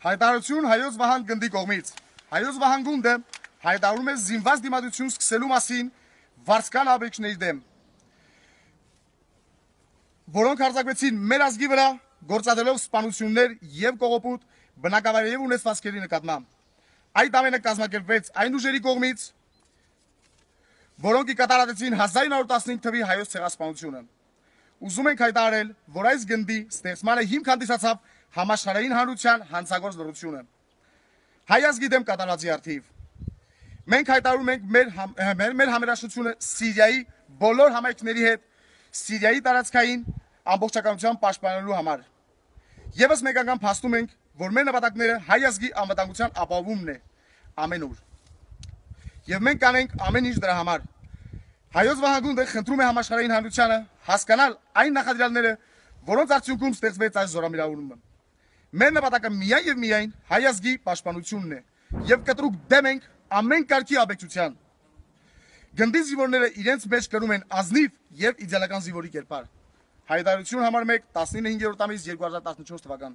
Հայտարարություն Հայոց Վահան գնդի կողմից։ Հայոց Վահան գունդը հայտարարում է զինված դիմադրություն սկսելու մասին վարձկան աբեկչների դեմ, որոնք հարձակվեցին մեր ազգի վրա, գործադրելով սպանություններ եւ կողոպուտ բնակավայրերի եւ ունեցվածքերի նկատմամբ։ Այդ ամենը կազմակերպվեց այն ուժերի կողմից, որոնք կատարածեցին 1915 թվականի հայոց ցեղասպանությունը։ Ուզում ենք հայտարարել, որ այս գնդի ստեղծմանը հիմք հանդիսացավ համաշխարհային հանրության հանցագործ լռությունը հայ ազգի դեմ կատարածի առթիվ։ Մենք հայտարարում ենք մեր համերաշխությունը Սիրիայի բոլոր համայնքների հետ Սիրիայի տարածքային ամբողջականության պաշտպանելու համար։ Եվս մեկ անգամ փաստում ենք, որ մեր նպատակները հայ ազգի անվտանգության ապահովումն է ամեն օր։ Եվ մենք կանենք ամեն ինչ դրա համար։ Հայոց Վահան գունդը խնդրում է համաշխարհային հանրությանը հասկանալ այն նախադրյալները, որոնց արդյունքում ստեղծվեց այս զորամիավորումը։ Մեր նպատակը միայն եւ միայն հայ ազգի պաշտպանությունն է եւ կտրուկ դեմ ենք ամեն կարգի աբեկչության։ Գնդի զինվորները իրենց մեջ կրում են ազնիվ եւ իդեալական զինվորի կերպար։ Հայտարարություն համար 1 19/5 2014 թվական։